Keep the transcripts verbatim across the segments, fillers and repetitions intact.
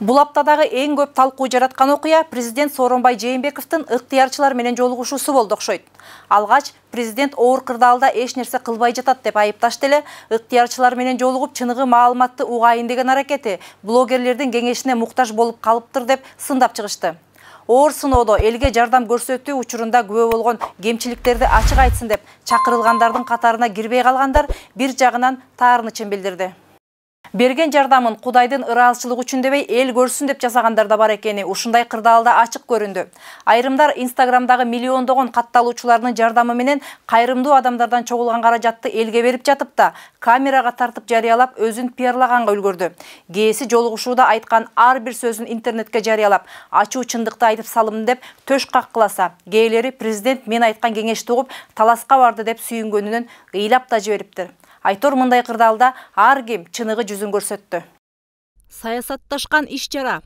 Бул аптадагы эң көп талкуу жараткан окуя президент Сооронбай Жээнбековдун ыктыярчылар менен жолугушуусу болду окшойт. Алгач президент оор кырдаалда эч нерсе кылбай жатат деп айыпташты эле, ыктыярчылар менен жолугуп чыныгы маалыматты угайын деген аракети блогерлердин кеңешине муктаж болуп калыптыр деп сындап чыгышты. Оор сыноодо элге жардам көрсөтүү учурунда күбө болгон кемчиликтерди ачык айтсын деп чакырылгандардын катарына кирбей калгандар бир жагынан таарынычын билдирди. Берген жардамын Кудайдын ыраазычылыгы үчүн дебей эл көрсүн деп жасагандар да бар экени ушундай кырдаалда ачык көрүндү. Айрымдар Инстаграмдагы миллиондогон катталуучулардын жардамы менен кайрымдуу адамдардан чогулган каражатты элге берип жатып да, камерага тартып жарыялап өзүн пиарлаганга үлгөрдү. Кээси жолугушууда айткан ар бир сөзүн интернетке жарыялап, ачуу чындыкты айтып салым деп төш каккыласа, кээлери президент мен айткан кеңешти угуп таласка барды деп сүйүнгөнүнөн ыйлап да жибериптир. Айтор мындай кырдаалда ар ким чыныгы жүзүн көрсөттү. Саясатташкан иш-чара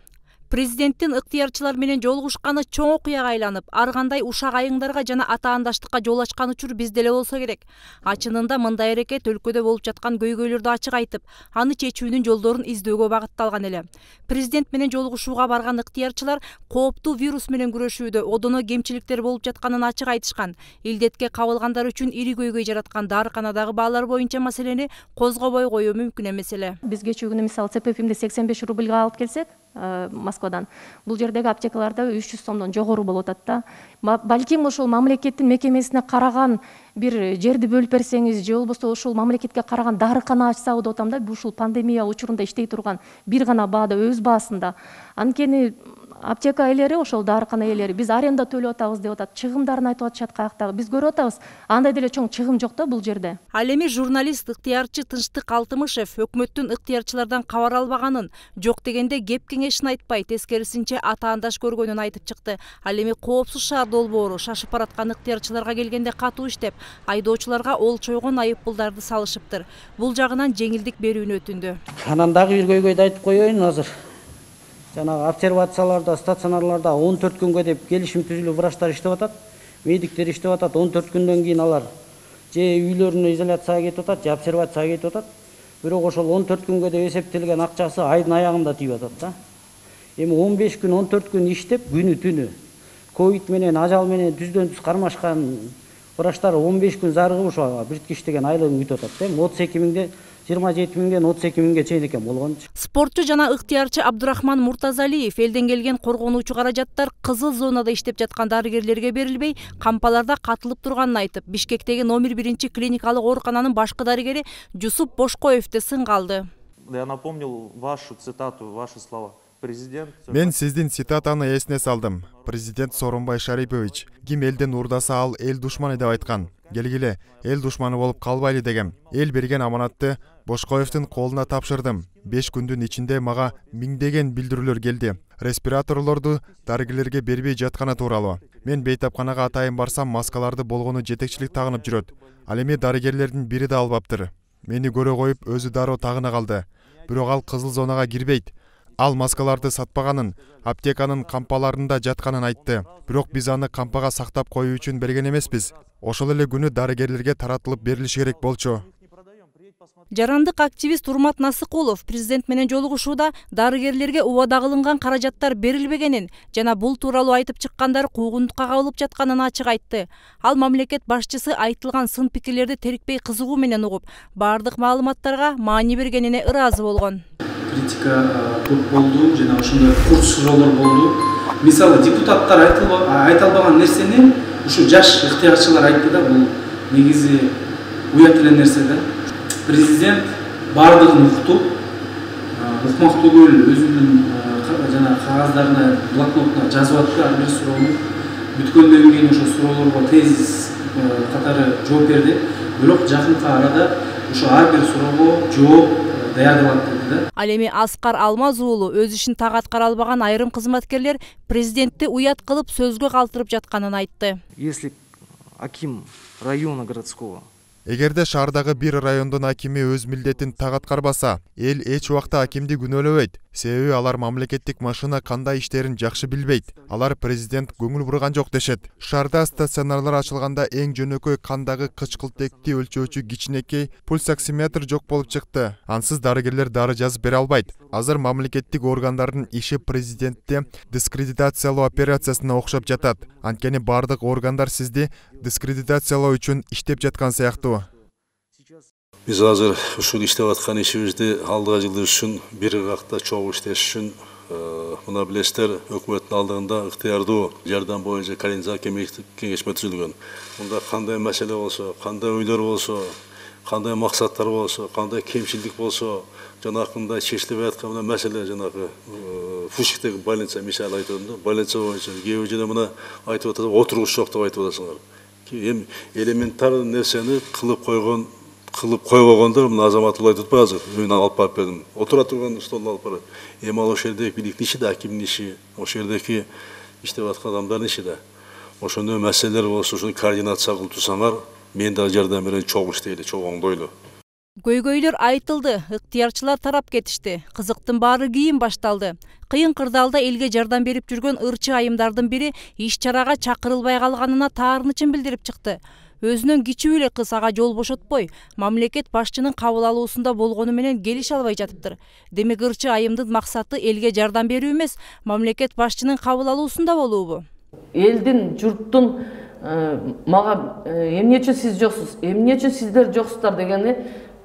президенттин ыктыярчылар менен жолугушканы чоң окуяга айланып, ар кандай ушак айыңдарга жана атаандаштыкка жол ачкан учур бизде эле болсо керек. Ачынында мындай аракет өлкөдө болуп жаткан көйгөйлөрдү ачык айтып, аны чечүүнүн жолдорун издөөгө багытталган эле. Президент менен жолугушууга барган ыктыярчылар кооптуу вирус менен күрөшүүдө одоно кемчиликтер болуп жатканын ачык айтышкан. Илдетке кабылгандар үчүн ири көйгөй жараткан дарыканадагы баалар боюнча маселени козгобой коюу мүмкүн эмес эле. Биз кечээ күнү мисалы ЦПФимди сексен беш рубльга алып келсек, Москвадан. Бул жердеги аптекаларда үч жүз сомдон жогору болуп атат да. Балким ошол мамлекеттин мекемесине караган бир жерди бөлүп берсеңиз, же болбосо ушул мамлекетке караган дарыкана ачсабы деп атам да. Ушул пандемия учурунда иштей турган бир гана баада өз баасында. Анткени аптека ээлери, ошол дарыкана ээлери биз аренда төлөп атабыз деп атат, чыгымдарын айтып атышат каяктагы. Биз көрүп атабыз, андай деле чоң чыгым жок да бул жерде. Ал эми журналист ыктыярчы Тынчтык Алтымышев өкмөттүн ыктыярчылардан кабар албаганын, жок дегенде кеп кеңешин айтпай, тескерисинче атаандаш көргөнүн айтып чыкты. Ал эми коопсуз шаар долбоору шашып бараткан ыктыярчыларга келгенде катуу иштеп, айдоочуларга олчойгон айыппулдарды салышыптыр. Бул жагынан жеңилдик берүүнү өтүндү. Анан дагы бир көйгөйдү айтып коеюн азыр. Жанагы обсервацияларда, стационарларда он төрт күнгө деп келишим түзүлүп врачтар иштеп атат, медиктер иштеп атат. он төрт күндөн кийин алар же үйлөрүнө изоляцияга кетип атат, же обсервацияга кетип атат. Бирок ошол он төрт күнгө деп эсептелген акчасы айдын аягында тийип атат да. Эми он беш күн, он төрт күн иштеп, күнү түнү ковид менен, ажал менен түздөн түз кармашкан врачтар он беш күн зарыгып ошо биртикиш деген айлыгын күтүп атат да. отуз эки миңден жыйырма жети миңден отуз эки миңге чейин экен болгон. Спортчу жана ыктыярчы Абдурахман Муртазалиев элден келген коргонуучу каражаттар кызыл зонада иштеп жаткан дарыгерлерге берилбей, кампаларда катылып турганын айтып, Бишкектеги номер биринчи клиникалык оорукананын башкы дарыгери Жусуп Бошкоевди сынга алды. Я напомнил вашу цитату, ваши слова. Мен сиздин цитатаны эсине салдым. Президент Сооронбай Шарипович, ким элден урдаса ал эл душманы деп айткан. Келгиле, эл душманы болуп калбайлы дегем. Эл берген аманатты Бошкоевдин колуна тапшырдым. беш күндүн ичинде мага миңдеген билдирүүлөр келди. Респираторлорду дарыгерлерге бербей жатканы тууралуу. Мен бейтапканага атайын барсам, маскаларды болгону жетекчилик тагынып жүрөт. Ал эми дарыгерлердин бири да албаптыр. Мени көрө коюп өзү дароо тагына калды. Бирок ал кызыл зонага кирбейт. Ал маскаларды сатпаганын, аптеканын кампаларында жатканын айтты. Бирок биз аны кампага сактап коюу үчүн берген эмеспиз. Ошол эле күнү дарыгерлерге таратылып берилиши керек болчу. Жарандык активист Урмат Насыкулов президент менен жолугушууда дарыгерлерге убада кылынган каражаттар берилбегенин жана бул тууралуу айтып чыккандар куугунтукка кабылып жатканын ачык айтты. Ал мамлекет башчысы айтылган сын пикирлерди терикпей кызыгуу менен угуп, бардык маалыматтарга маани бергенине ыраазы болгон. Критика көп болду, жана ошондой курт суроолор болду. Мисалы депутаттар айта албаган нерсени ушу жаш ыктыярчылар айтты да, бул негизи уят эле нерсе да. Президент бардыгын уктуп, укмак түгүл өзүнүн жана кагаздарына, блокнотуна жазып атты ар бир суроону. Бүткөндөн кийин ошо суроолорго тез катары жооп берди. Бирок жакынкы арада ошо ар бир суроого жооп даярдалат деди да. Ал эми Аскар Алмаз уулу өз ишин так аткара албаган айрым кызматкерлер президентти уят кылып сөзгө калтырып жатканын айтты. Если аким района городского, эгерде шаардагы бир райондун акими өз милдетин так аткарбаса, эл эч убакта акимди күнөөлөбөйт. Себеби алар мамлекеттик машина кандай иштерин жакшы билбейт. Алар президент көңүл бурган жок дешет. Шаарда стационарлар ачылганда эң жөнөкөй кандагы кычкылтекти өлчөөчү кичинекей пульсоксиметр жок болуп чыкты. Ансыз дарыгерлер дары жазып бере албайт. Азыр мамлекеттик органдардын иши президентти дискредитациялоо операциясына окшоп жатат. Анткени бардык органдар сизди дискредитациялоо үчүн иштеп жаткан сыяктуу. Биз азыр ушул иштеп аткан ишибизди алдыга жылдар үчүн бир ыргакта чогуу иштеш үчүн мына билесиздер, өкмөттүн алдыгында ыктыярдуу жардам боюнча координациялык кеңешме түзүлгөн. Мында кандай маселе болсо, кандай ойлор болсо, кандай максаттар болсо, кандай кемчилдик болсо, жанакындай чечилбей аткан мына маселе жанагы Фушиктеги больница мисалы айтып атам да, больница боюнча кээ бир жерде мына айтып атат, отургуч жок деп айтып атасыңар. Эми элементарный нерсени кылып койгон кылып койбогондор мына азамат айтып атпайбы азыр, мен алып барып бердим. Отура турган столду алып барып. Эми ал ошол жердеги бийликтин иши да, акимдин иши, ошол жердеги иштеп аткан адамдардын иши да. Ошондой маселелер болсо, ошону координация кылып турсаңар, мен да жардам берейин, чогуу иштейли, чогуу оңдойлу. Көйгөйлөр айтылды, ыктыярчылар тарап кетишти. Кызыктын баары кийин башталды. Кыйын кырдаалда элге жардам берип жүргөн ырчы айымдардын бири иш чарага чакырылбай калганына таарынычын билдирип чыкты. Өзүнөн кичүү эле кыз ага жол бошотпой, мамлекет башчынын кабыл алуусунда болгону менен келише албай жатыптыр. Демек ырчы айымдын максаты элге жардам берүү эмес, мамлекет башчынын кабыл алуусунда болуубу? Элдин, журттун мага эмне үчүн сиз жоксуз, эмне үчүн сиздер жоксуздар дегени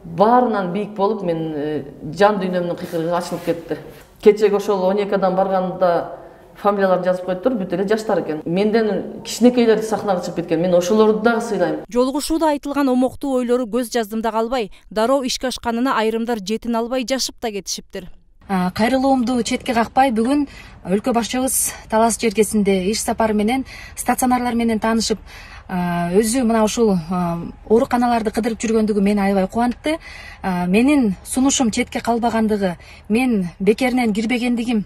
баарынан бийик болуп, мен жан дүйнөмдүн кыйкырыгы ачылып кетти. Кечеги ошол он эки адам барганда фамилияларын жазып коюптур, бүт эле жаштар экен. Менден кичинекейлер сахнага чыгып кеткен. Мен ошолорду дагы сыйлайм. Жолугушууда айтылган омоктуу ойлору көз жаздымда калбай, дароо ишке ашканына айрымдар жетин албай жашып да кетишиптир. Кайрылуумду четке какпай, бүгүн өлкө башчыбыз Талас жергесинде иш сапары менен стационарлар менен таанышып, өзү мына ушул ооруканаларды кыдырып жүргөндүгү мени аябай кубантты. Менин сунушум четке калбагандыгы, мен бекеринен кирбегендигим,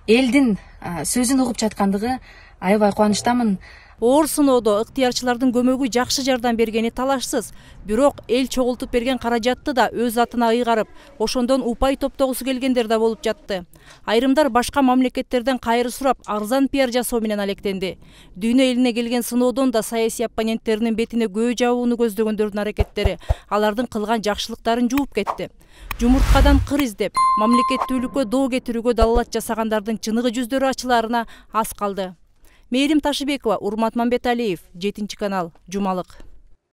элдин сөзүн угуп жаткандыгы аябай кубанычтамын. Оор сыноодо ыктыярчылардын көмөгү жакшы жардам бергени талашсыз. Бирок эл чогултуп берген каражатты да өз атына ыйгарып, ошондон упай топтогусу келгендер да болуп жатты. Айрымдар башка мамлекеттерден кайры сурап, арзан пиар жасоо менен алектенди. Дүйнө элине келген сыноодон да саясий оппоненттеринин бетине көө жабууну көздөгөндөрдүн аракеттери алардын кылган жакшылыктарын жууп кетти. Жумурткадан кыр издеп, мамлекеттүүлүккө доо кетирүүгө далалат жасагандардын чыныгы жүздөрү ачылаарына аз калды. Мээрим Ташыбекова, Урмат Мамбеталиев, жетинчи канал, Жумалык.